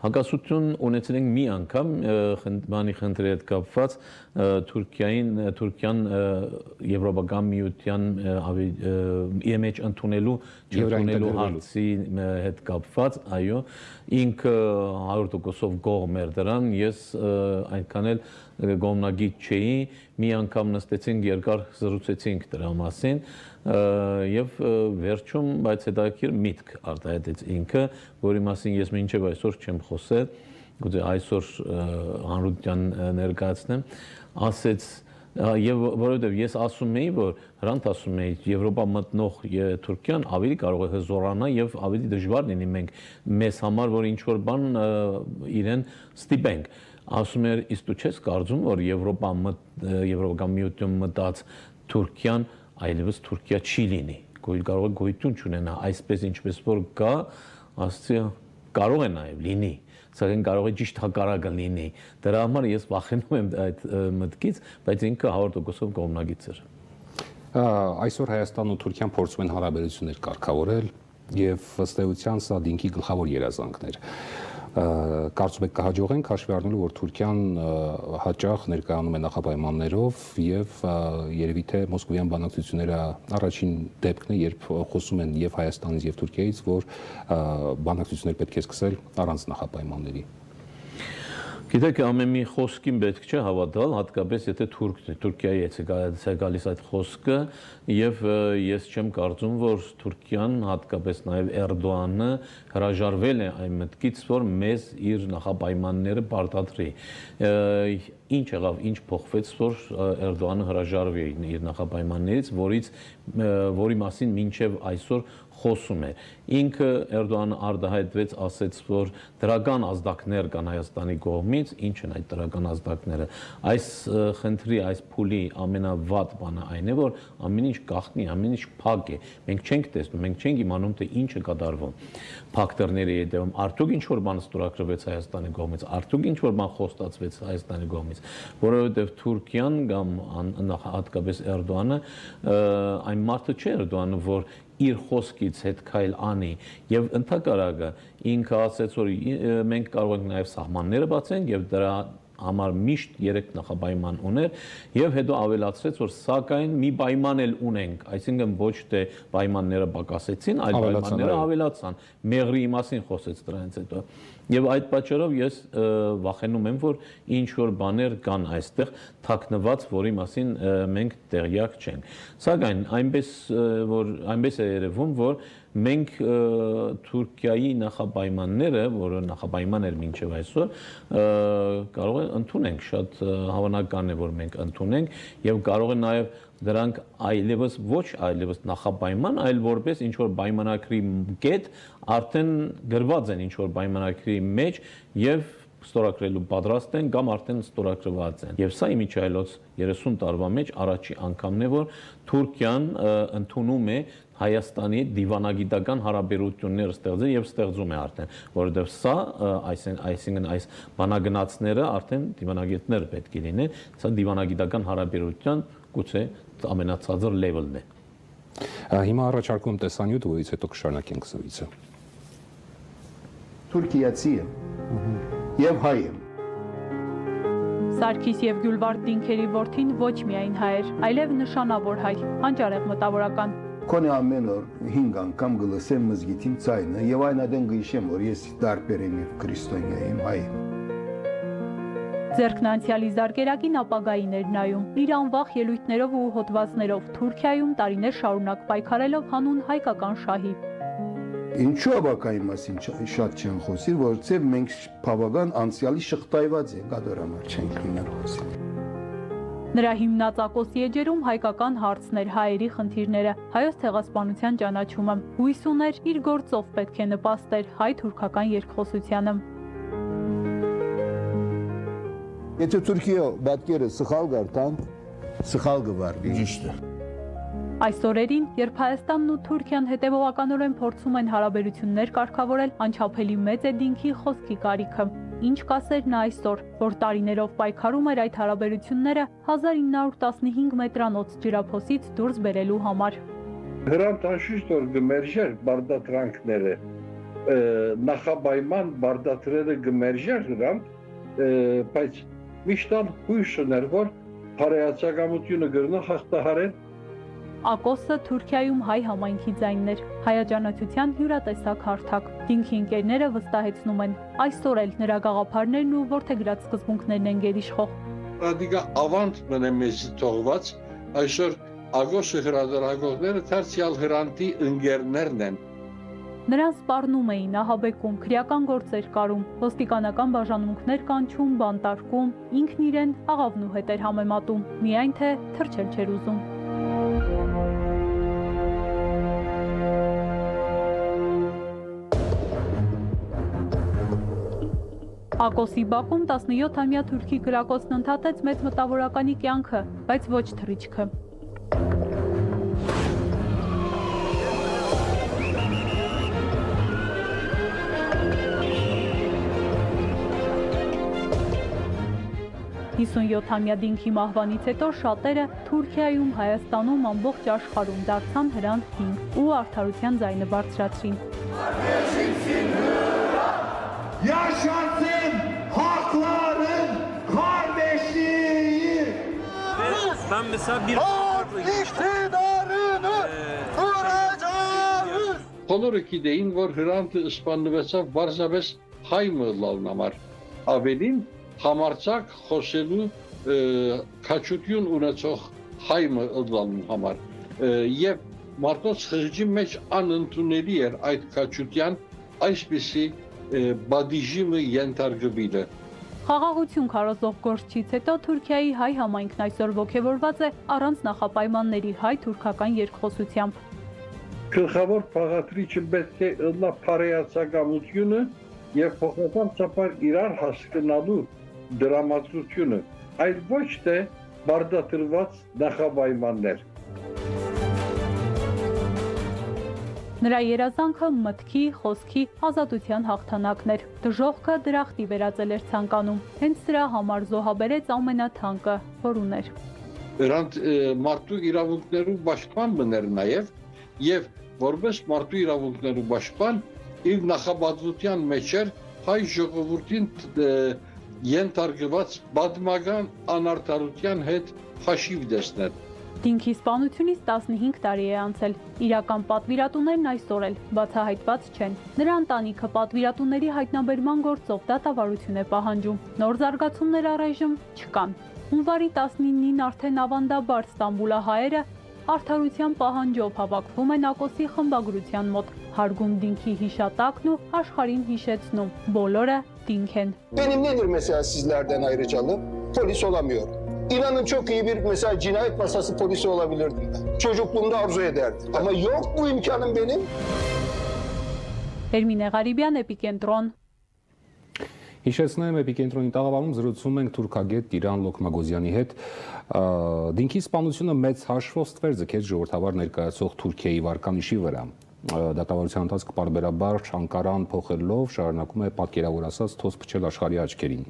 Հակասություն ունեցել ենք մի անգամ բանի խնդրի հետ կապված Թուրքիային, Թուրքիան Եվրոպական միության մեջ ընդունելու չընդունելու հարցի հետ կապված, այո, ինքը հարյուր տոկոսով կողմ էր դրան, ես այնքան էլ կողմնագիծ չէի, մի անգամ նստեցինք երկար զրուցեցինք դրա մասին եւ վերջում բայց հետաքրքիր միտք արտահայտեց ինքը, որի մասին ես մինչեւ այսօր չեմ խոսել, գուցե այսօր հանրության ներկայացնեմ, ասեց եւ որովհետեւ ես ասում էի, որ Հրանտ ասում էի, Եվրոպա մտնող Թուրքիան ավելի կարող է հզորանա եւ ավելի դժվար լինի մենք մեզ համար, որ ինչ որ բան իրեն ստիպենք։ Ասում էր, իսկ դու չես կարծում, որ Եվրոպա Եվրոպական միություն մտած Թուրքիան այլևս Թուրքիա չի լինի, կարող է գոյություն չունենա, այսպես ինչպես որ կա, ասացի կարող է նաև լինի, սակայն կարող է ճիշտ հակառակը լինի։ Դրա համար ես վախենում եմ այդ մտքից, բայց ինքը հարյուր տոկոսով կողմնագիծ էր։ Այսօր Հայաստանն ու Թուրքիան փորձում են հարաբերություններ կարգավորել եւ ըստ էության սա Դինքի գլխավոր երազանքն էր։ Կարծում եք կհաջողենք հաշվի առնելու, որ Թուրքիան հաճախ ներկայանում է նախապայմաններով եւ երևի թե մոսկովյան բանակցությունները առաջին դեպքն է, երբ խոսում են եւ Հայաստանից եւ Թուրքիայից, որ բանակցություններ պետք է սկսել առանց նախապայմանների։ Գիտեք, ամեն մի խոսքին պետք չէ հավատալ, հատկապես եթե Թուրքիայից է գալիս այդ խոսքը, եւ ես չեմ կարծում, որ Թուրքիան, հատկապես նաեւ Էրդողանը հրաժարվել է այն մտքից, որ մեզ իր նախապայմանները պարտադրի։ Ինչ եղավ, ինչ փոխվեց, որ Էրդողանը հրաժարվի իր նախապայմաններից, որից որի մասին մինչև այսօր խոսում է։ Ինքը Էրդողանը արտահայտվեց, ասեց, որ դրական ազդակներ կան Հայաստանի կողմից, ինչ են այդ դրական ազդակները։ Այս խնդրի, այս փուլի ամենավատ բանը այն է, որ ամեն ինչ գաղտնի, ամեն ինչ փակ է։ Մենք չենք տեսնում, մենք չենք իմանում, թե ինչ է կատարվում։ Փակտորների հետևում արդյոք ինչ որ բան ստորագրվեց Հայաստանի կողմից, արդյոք ինչ որ բան խոստացվեց Հայաստանի կողմից, որովհետև Թուրքիան կամ հատկապես Էրդողանը այն մարդը չէ Էրդողանը, որ իր խոսքից հետ քայլ անի եւ ընդհակառակը ինքը ասեց, որ մենք կարող ենք նաեւ սահմանները բացենք եւ դրա համար միշտ երեք նախապայման ուներ եւ հետո ավելացրեց, որ սակայն մի պայման էլ ունենք, այսինքն ոչ թե պայմանները պակասեցին, այլ պայմանները ավելացան։ Մեղրի մասին խոսեց դրանից հետո։ Եվ այդ պատճառով ես վախենում եմ, որ ինչ որ բաներ կան այստեղ թաքնված, որի մասին մենք տեղյակ չենք։ Սակայն այնպես որ այնպես է երևում, որ մենք Թուրքիայի նախապայմանները, որը նախապայման էր մինչև այսօր, կարող է ընդունենք, շատ հավանական է, որ մենք ընդունենք եւ կարող է նաեւ դրանք այլևս ոչ այլևս նախապայման, այլ որպես ինչ որ պայմանագրի կետ արդեն գրված են ինչ որ պայմանագրի մեջ եւ ստորագրելու պատրաստ են կամ արդեն ստորագրված են։ Եվ սա իմիջայլոց երեսուն տարվա մեջ առաջի անգամն է, որ Թուրքիան ընդունում է Հայաստանի դիվանագիտական հարաբերություններ ստեղծել եւ ստեղծում է արդեն, որովհետեւ սա այսինքն այս բանագնացները արդեն դիվանագետներ պետք է լինեն, սա դիվանագիտական հարաբերության գուցե ամենացածր լեվելն է։ Հիմա առաջարկում եմ տեսանյութ, որից հետո կշարունակենք զրույցը։ Թուրքիացի եմ եւ հայ եմ։ Սարգիս եւ Գյուլվարդ Դինքերի որդին ոչ միայն հայ էր, այլև նշանավոր հայ, հանճարեղ մտավորական։ Կոնե ամեն օր հինգ անգամ գլսեմ մզգիթին ցայնը եւ այն adեն գիշեմ, որ ես դարբեր եմ եւ քրիստոնյա եմ, հայ եմ։ Ձերքն անցյալի զարգերակին ապագային էր նայում, իր անվախ ելույթներով ու հոդվածներով Թուրքիայում տարիներ շարունակ պայքարելով հանուն հայկական շահի։ Ինչու ապակայի մասին շատ չեն խոսի, որովհետև մենք բավական անցյալի շղթայված ենք, ադորամար չենք լինել խոսի։ Նրա հիմնած Ակոսի էջերում հայկական հարցներ, հայերի խնդիրները, հայոց ցեղասպանության ճանաչումը, հույս ուներ իր գործով պետք է նպաստեր հայ-թուրքական երկխոսությանը։ Եթե Թուրքիա բատկերը սխալ գարտան, սխալ գվարվի, ճիշտ է։ Այս օրերին, երբ Հայաստանն ու Թուրքիան հետևողականորեն փորձում են հարաբերություններ կարգավորել, անչափելի մեծ է Դինքի խոսքի կարիքը։ Ինչ կասեր նա այսօր, որ տարիներով պայքարում էր այդ հարաբերությունները հազար ինը հարյուր տասնհինգ մետրանոց ջրափոսից դուրս բերելու համար։ Հրանտ անշուշտ որ գմերժեր բարդատրանքները, նախաբայման բարդատրերը գմերժեր հրանտ, բայց միշտ հույս ուներ, որ հարայացակամությունը գրնա հաղթահարել։ Ակոսը Թուրքիայում հայ համայնքի ձայնն էր, հայաճանաչության յուրատեսակ հարթակ։ Դինքի ընկերները վստահեցնում են, այսօր էլ նրա գաղափարներն ու որդեգրած սկզբունքներն են գերիշխող։ Ադիգա ավանդ մնե մեզ թողված, այսօր Ակոսը հրադարագողները դարձյալ հրանտի ընկերներն են։ Նրան սպառնում էին, ահաբեկում, քրեական գործեր կարում, ոստիկանական բաժանմունքներ կանչում, բանտարկում, ինքն իրեն աղավնու հետ էր համեմատում, միայն թե թռչել չէր ուզում։ Ակոսի բակում տասնյոթամյա թուրքի գրակոցն ընդհատեց մեծ մտավորականի կյանքը, բայց ոչ թռիչքը։ հիսունյոթամյա Դինքի մահվանից հետո շատերը Թուրքիայում, Հայաստանում, ամբողջ աշխարհում դարձան հրանտ Դինք ու արդարության ձայնը բարձրացրին։ Yaşasın hakların kardeşliği. Ben mesela bir iktidarını kuracağız. Բոլորը գիտեին, որ հրանտը սպանվեցավ բարձրապես հայ մլալն համար։ Ավելին համարցակ խոսելու քաչություն ունեցող հայ մլալն համար։ Եվ Մարտոց խղճի մեջ անընդունելի էր այդ քաչության այսպիսի բադիժիմը ենթարկվելը։ Խաղաղություն քարոզող գործից հետո Թուրքիայի հայ համայնքն այսօր ողջևորված է առանց նախապայմանների հայ-թուրքական երկխոսությամբ։ Գլխավոր փաղադրիչը պետք է ըլլա բարեացակամությունը եւ փոխական ծապար իրար հասկանալու դրամատուրգությունը, այլ ոչ թե բարդատրված նախապայմաններ։ Նրա երազանքը մտքի, խոսքի, ազատության հաղթանակն էր։ Դժողքը դրախտի վերածել էր ցանկանում։ Հենց սրա համար զոհաբերեց ամենաթանկը, որ ուներ։ Նրանց մարդու իրավունքներու պաշտպան մներ նաև եւ որպես մարդու իրավունքներու պաշտպան իր նախաբացության մեջ էր հայ ժողովրդին ենթարկված պատմական անարդարության հետ հաշիվ դեսնել։ Դինքի սպանությունից տասնհինգ տարի է անցել։ Իրական պատվիրատուներն այսօր էլ բացահայտված չեն։ Նրա ընտանիքը պատվիրատուների հայտնաբերման գործով դատավարություն է պահանջում։ Նոր զարգացումներ առայժմ չկան։ Հունվարի տասնինին արդեն ավանդաբար ստամբուլահայերը արդարության պահանջով հավաքվում են Ակոսի խմբագրության մոտ, հարգում Դինքի հիշատակն ու աշխարհին hիշեցնում. բոլորը Դինք են։ Benim nedir mesela sizlerden ayrıcalı? Polis olamıyor. İnanın çok iyi bir mesela cinayet masası polisi olabilirdim ben. Çocukluğumda arzu ederdim. Ama yok bu imkanım benim. Ermine Ղարիբյան, Էպիկենտրոն։ Հիշեցնեմ Էպիկենտրոնի տաղավարում զրուցում ենք թուրքագետ Տիրան Լոկմագոզյանի հետ։ Դինքի սպանությունը մեծ հաշվով ստվեր ձգեց ժողովրդավար ներկայացող Թուրքիայի վարկանիշի վրա։ Դատավարության ընթացքը պարբերաբար Չանկարան փոխելով շարունակում է պատկերավոր ասած թոս փչել աշխարհի աչքերին։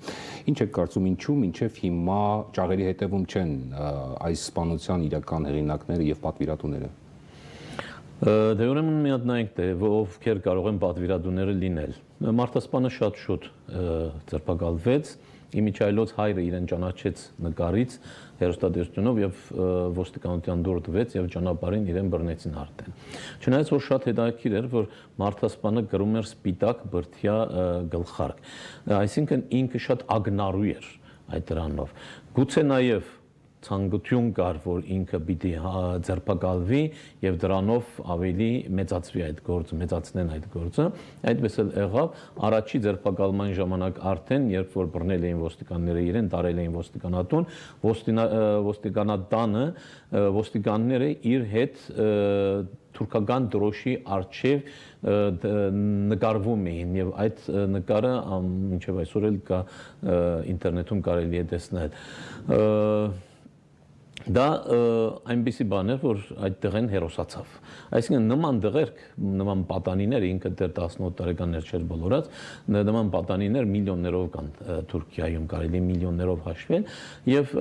Ինչ եք կարծում, ինչու մինչև հիմա ճաղերի հետևում չեն այս սպանության իրական հեղինակները եւ պատվիրատուները։ Դե ուրեմն մի հատ նայենք թե ովքեր կարող են պատվիրատուները լինել։ Մարտասպանը շատ շուտ ձերբակալվեց, Իմիջայլոց հայրը իրեն ճանաչեց նկարից հերոստատեսությունով եւ ոստիկանության դուր տվեց եւ ճանապարհին իրեն բռնեցին արդեն։ Չնայած որ շատ հետաքրքիր էր, որ Մարտասպանը գրում էր սպիտակ բրդյա գլխարկ, այսինքն ինքը շատ ագնարու էր այդ դրանով։ Գուցե նաեւ ցանկություն կար, որ ինքը պիտի ձերբակալվի եւ դրանով ավելի մեծացվի այդ գործը, մեծացնեն այդ գործը, այդպես էլ եղավ։ Առաջի ձերբակալման ժամանակ արդեն, երբ որ բռնել էին ոստիկանները իրեն, տարել էին ոստիկանատուն, ոստիկանատանը ոստիկանները իր հետ թուրքական դրոշի առջև նկարվում էին եւ այդ նկարը մինչեւ այսօր էլ կա ինտերնետում կարելի է տեսնել։ Դա այնպիսի բան է, որ այդ տղեն հերոսացավ։ Այսինքն նման դղերք, նման պատանիներ, ինքը դեռ տասնութ տարեկաններ չէր բոլորած, նման պատանիներ միլիոններով կան Թուրքիայում, կարելի միլիոններով հաշվել, եւ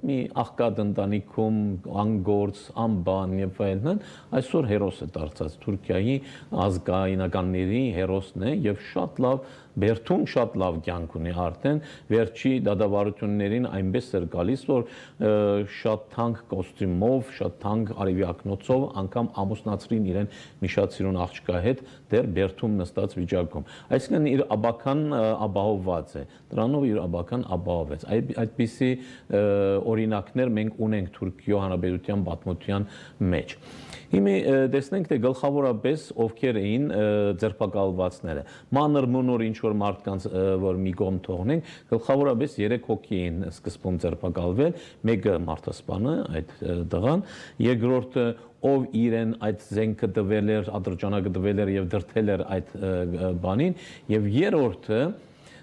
մի աղքատ ընտանիքում անգործ, անբան եւ այլն, այսօր հերոս է դարձած Թուրքիայի ազգայնականների հերոսն է եւ շատ լավ Բերթուն շատ լավ կյանք ունի արդեն, վերջի դատավարություններին այնպես էր գալիս, որ շատ թանկ կոստյումով, շատ թանկ արևյակնոցով անգամ ամուսնացրին իրեն մի շատ սիրուն աղջկա հետ դեռ Բերթում նստած վիճակում։ Այսինքն իր աբական ապահովված է, դրանով իր աբական ապահովեց։ Այդպիսի օրինակներ մենք ունենք Թուրքիո Հանրապետության պատմության մեջ։ Հիմա տեսնենք թե գլխավորապես ովքեր էին ձերբակալվածները։ Մանր մունոր ինչ որ մարդկանց որ մի կողմ թողնենք, գլխավորապես երեք հոգի էին սկզբում ձերբակալվել, մեկը Մարտասպանը, այդ դղան, երկրորդը ով իրեն այդ զենքը տվել էր, ատրճանակը տվել էր եւ դրթել էր այդ բանին, եւ երրորդը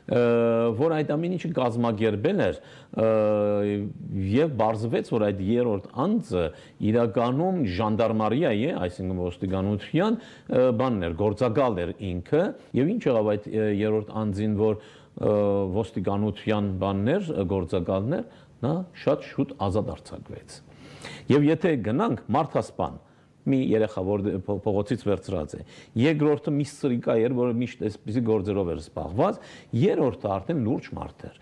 որ այդ ամեն ինչը կազմակերպել էր եւ բարձվեց որ այդ երրորդ անձը իրականում ժանդարմարիայի է, այսինքն ոստիկանության բանն էր, գործակալ էր ինքը եւ ինչ եղավ այդ երրորդ անձին, որ ոստիկանության բաններ, գործակալներ, նա շատ շուտ ազատ արձակվեց։ Եվ եթե գնանք Մարտասպան մի երեխա, որ փողոցից վերցրած է, երկրորդը մի սրիկա էր, որը միշտ այսպիսի գործերով էր զբաղված, երրորդը արդեն լուրջ մարդ էր,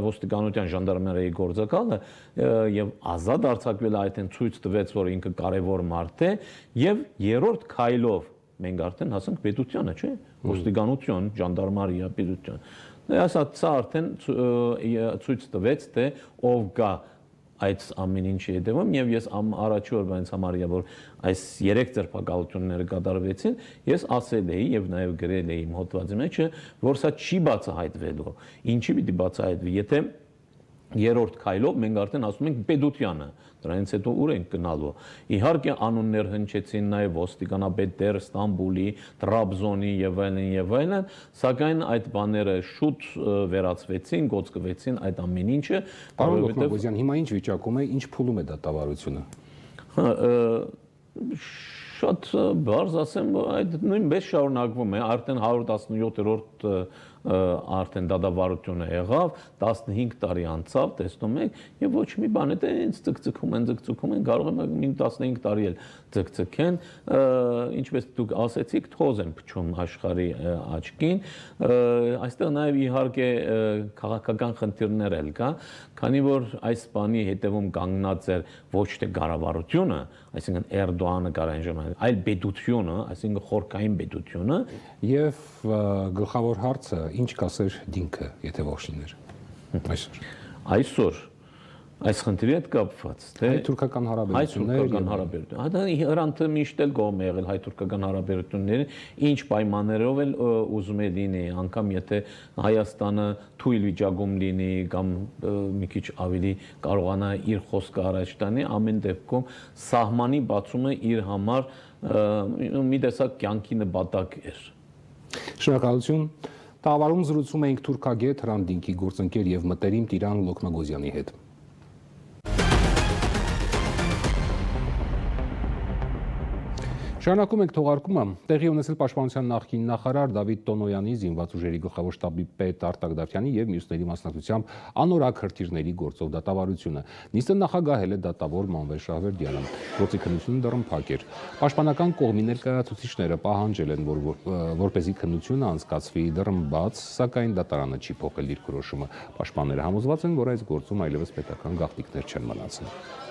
ոստիկանության ժանդարմերիայի գործակալը եւ ազատ արձակվել այդեն ցույց տվեց, որ ինքը կարևոր մարդ է եւ երրորդ քայլով մենք արդեն հասանք պետությանը, չէ՞, ոստիկանություն, ժանդարմերիա, պետություն։ Ասած սա արդեն ցույց տվեց, թե ով գա այդ ամեն ինչի հետևում եւ ես առաջի օրվանից համարյա որ այս երեք ձերբակալությունները կատարվեցին, ես ասել էի եւ նաեւ գրել էի իմ հոդվածի մեջ, որ սա չի բացահայտվելու։ Ինչի՞ պիտի բացահայտվի, եթե երրորդ քայլով մենք արդեն ասում ենք պետությանը, դրանից հետո ուր ենք գնալու։ Իհարկե անուններ հնչեցին նաև ոստիկանապետ դեր Ստամբուլի, Տրաբզոնի եւ այլն եւ այլն, սակայն այդ բաները շուտ վերացվեցին, գոծկվեցին այդ ամեն ինչը, որովհետեւ հիմա ինչ վիճակում է, ինչ փուլում է դատավարությունը։ Շատ բարձ ասեմ, այդ նույնպես շարունակվում է, արդեն հարյուր տասնյոթերորդ արդեն դատավարությունը եղավ, տասնհինգ տարի անցավ, տեսնում եք, եւ ոչ մի բան է, ինձ ցկցկում են, ցկցկում են, կարող եմ մի տասնհինգ տարի էլ ցկցկեն, ինչպես դուք ասեցիք, թոզ են փչում աշխարհի աչքին, այստեղ նաեւ իհարկե քաղաքական խնդիրներ էլ կա, քանի որ այս բանի հետևում կանգնած էր ոչ թե կառավարությունը, այսինքն Էրդողանը կարան ժամանակ, այլ պետությունը, այսինքն խորքային պետությունը եւ գլխավոր հարցը ինչ կասեր դինքը, եթե ոչ լիներ այսօր։ Այսօր այս խնդրի հետ կապված, թե հայ-թուրքական հարաբերություններ, հայ-թուրքական հարաբերություններ, դա Իրանքը միշտ էլ կողմ է եղել հայ-թուրքական հարաբերությունները, ինչ պայմաններով էլ ուզում է լինի, անգամ եթե Հայաստանը թույլ վիճակում լինի կամ մի քիչ ավելի կարողանա իր խոսքը առաջ տանի, ամեն դեպքում սահմանի բացումը իր համար մի տեսակ կյանքի նպատակ էր։ Շնորհակալություն։ Տաղավարում զրուցում էինք թուրքագետ Հրանտ Դինքի գործընկեր եւ մտերիմ Տիրան Լոքնագոզյանի հետ։ Շարունակում ենք թողարկումը։ Տեղի ունեցել Պաշտպանության նախկին նախարար Դավիթ Տոնոյանի, զինված ուժերի գլխավոր շտաբի պետ Արտակ Դավթյանի եւ մյուսների մասնակցությամբ անորակ հրթիռների գործով դատավարությունը։ Նիստը նախագահել է դատավոր Մանվել Շահվերդյանը։ Գործի քննությունը դեռ փակ էր։ Պաշտպանական կողմի ներկայացուցիչները պահանջել են, որ որպեսզի քննությունը անցկացվի դռնբաց, սակայն դատարանը չի փոխել դիրքորոշումը։ Պաշտպանները համոզված են, որ այս գործում այլևս պետական գաղտնիքներ չեն մնացել։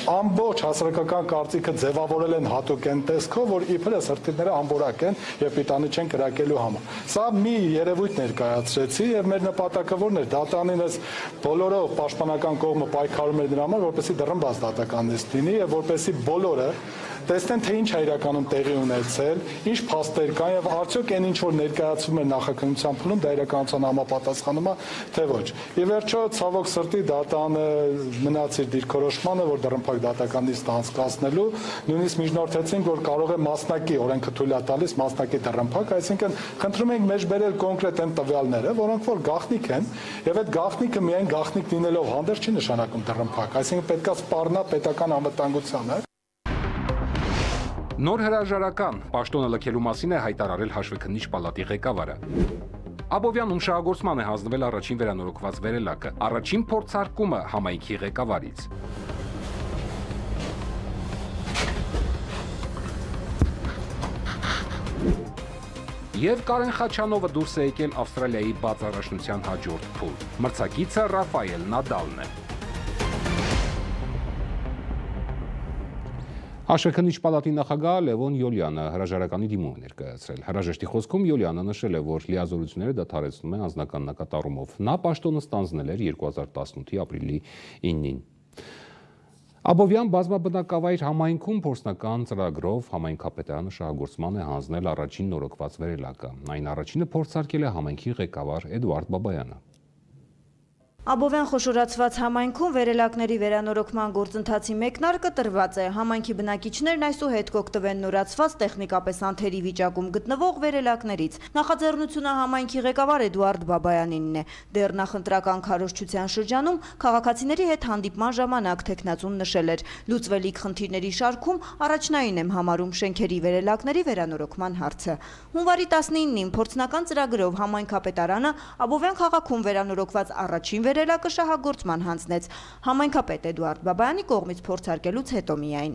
Ամբողջ հասարակական կարծիքը ձևավորել են հատուկ այն տեսքով, որ իբրես հրթիռները ամբորակ են եւ պիտանի չեն կրակելու համար։ Սա մի երևույթ ներկայացրեցի եւ մեր նպատակը որն էր, դատարանին այս բոլորով պաշտպանական կողմը պայքարում էր դրա համար, որպեսզի դռնբաց դատական նիստ լինի եւ որպեսզի բոլորը տեսնեն, թե ինչ է իրականում տեղի ունեցել, ինչ փաստեր կան եւ արդյոք այն ինչ որ ներկայացվում է նախաքննության փուլում, դա իրականության համապատասխանում է, թե ոչ։ Ի վերջո, ցավոք սրտի դատանը մնաց իր դիրքորոշմանը, որ դռնփակ դատական նիստ անցկացնելու, նույնիսկ միջնորդեցին, որ կարող է մասնակի օրենքը թույլ է տալիս մասնակի դռնփակ, այսինքն խնդրում ենք մեջ բերել կոնկրետ այն տվյալները, որոնք որ գաղտնիք են, եւ այդ գաղտնիքը միայն գաղտնիք լինելով հանդերձ չի նշանակում դռնփակ, այսինքն պետքա սպառնա պետական անվտանգությանը։ Նոր հրաժարական պաշտոնը լքելու մասին է հայտարարել հաշվեկնիչ պալատի ղեկավարը։ Աբովյանում շահագործման է հանձնվել առաջին վերանորոգված վերելակը, առաջին փորձարկումը համայնքի ղեկավարից։ Եվ Կարեն Խաչանովը դուրս է եկել Ավստրալիայի բաց առաջնության հաջորդ փուլ։ Մրցակիցը Ռաֆայել Նադալն է։ Հաշվեկնիչ պալատի նախագահ Լևոն Յոլյանը հրաժարականի դիմում է ներկայացրել։ Հրաժեշտի խոսքում Յոլյանը նշել է, որ լիազորությունները դադարեցնում են անձնական նկատառումով։ Նա պաշտոնը ստանձնել էր երկու հազար տասնութի ապրիլի իննին։ Աբովյան բազմաբնակավայր համայնքում փորձնական ծրագրով համայնքապետարանը շահագործման է հանձնել առաջին նորոգված վերելակը։ Այն առաջինը փորձարկել է համայնքի ղեկավար Էդուարդ Բաբայանը։ Աբովյան խոշորացված համայնքում վերելակների վերանորոգման գործընթացի մեկնարկը տրված է։ Համայնքի բնակիչներն այսուհետ կօգտվեն նորացված տեխնիկապես անթերի վիճակում գտնվող վերելակներից։ Նախաձեռնությունը համայնքի ղեկավար Էդուարդ Բաբայանինն է։ Դեռ նախընտրական քարոզչության շրջանում քաղաքացիների հետ հանդիպման ժամանակ թեկնածուն նշել էր. լուծվելիք խնդիրների շարքում առաջնային եմ համարում շենքերի վերելակների վերանորոգման հարցը։ Հունվարի տասնինին փորձնական ծրագրով համայնքապետարանը Աբովյան քաղաքում վերանորոգված առաջին վերելակը շահագործման հանձնեց համայնքապետ Էդուարդ Բաբայանի կողմից փորձարկելուց հետո միայն։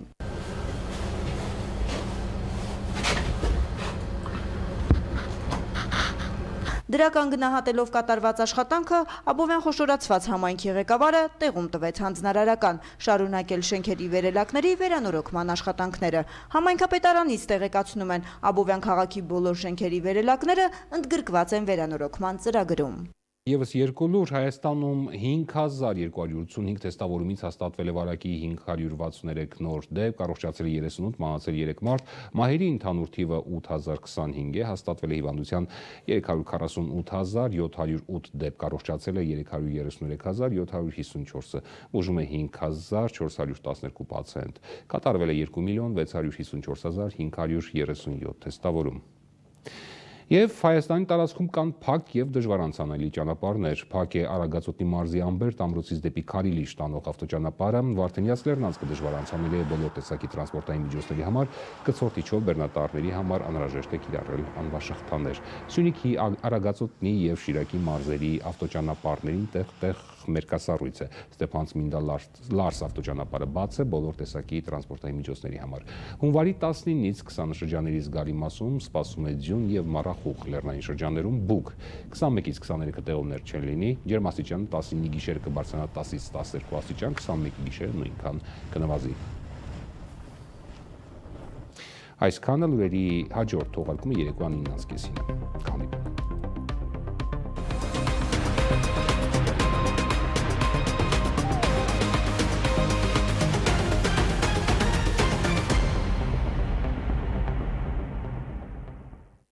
Դրական գնահատելով կատարված աշխատանքը Աբովյան խոշորացված համայնքի ղեկավարը տեղում տվեց հանձնարարական շարունակել շենքերի վերելակների վերանորոգման աշխատանքները։ Համայնքապետարանից տեղեկացնում են Աբովյան քաղաքի բոլոր շենքերի վերելակները ընդգրկված են վերանորոգման ծրագրում։ Եվս երկու լուր Հայաստանում հինգ հազար երկու հարյուր ութսունհինգ թեստավորումից հաստատվել է վարակի հինգ հարյուր վաթսուներեք նոր դեպք, առողջացել է երեսունութ, մահացել երեք մարդ, մահերի ընդհանուր թիվը ութ հազար քսանհինգ է, հաստատվել է հիվանդության երեք հարյուր քառասունութ հազար յոթ հարյուր ութ դեպք, առողջացել է երեք հարյուր երեսուներեք հազար յոթ հարյուր հիսունչորսը, ուժում է հինգ հազար չորս հարյուր տասներկու պացիենտ, կատարվել է երկու միլիոն վեց հարյուր հիսունչորս հազար հինգ հարյուր երեսունյոթ թեստավորում։ Եվ Հայաստանի տարածքում կան փակ եւ դժվար անցանելի ճանապարհներ։ Փակ է Արագածոտնի մարզի Ամբերտ ամրոցից դեպի Քարիլիշ տանող ավտոճանապարհը, Վարդենյաց Լեռնանցքը դժվար անցանելի է բոլոր տեսակի տրանսպորտային միջոցների համար, կցորդիչով բեռնատարների համար անհրաժեշտ է կիրառել անվաշղթաներ։ Սյունիքի Արագածոտնի եւ Շիրակի մարզերի ավտոճանապարհներին տեղ-տեղ մերկասառույց է։ Ստեփանցմինդա Լարս ավտոճանապարհը բաց է բոլոր տեսակի տրանսպորտային միջոցների համար։ Հունվարի տասնինից քսանը շրջանների զգալի մասում սպասում է ձյուն եւ մառախուղ, լեռնային շրջաններում բուք, քսանմեկից քսաներեքը տեղումներ չեն լինի, ջերմաստիճանը տասնինի գիշերը կբարձրանա տասից տասներկու աստիճան, քսանմեկի գիշերը նույնքան կնվազի։ Այսքանը լուրերի հաջորդ թողարկումը երեկոյան իննից կեսին։ Կհանդիպենք։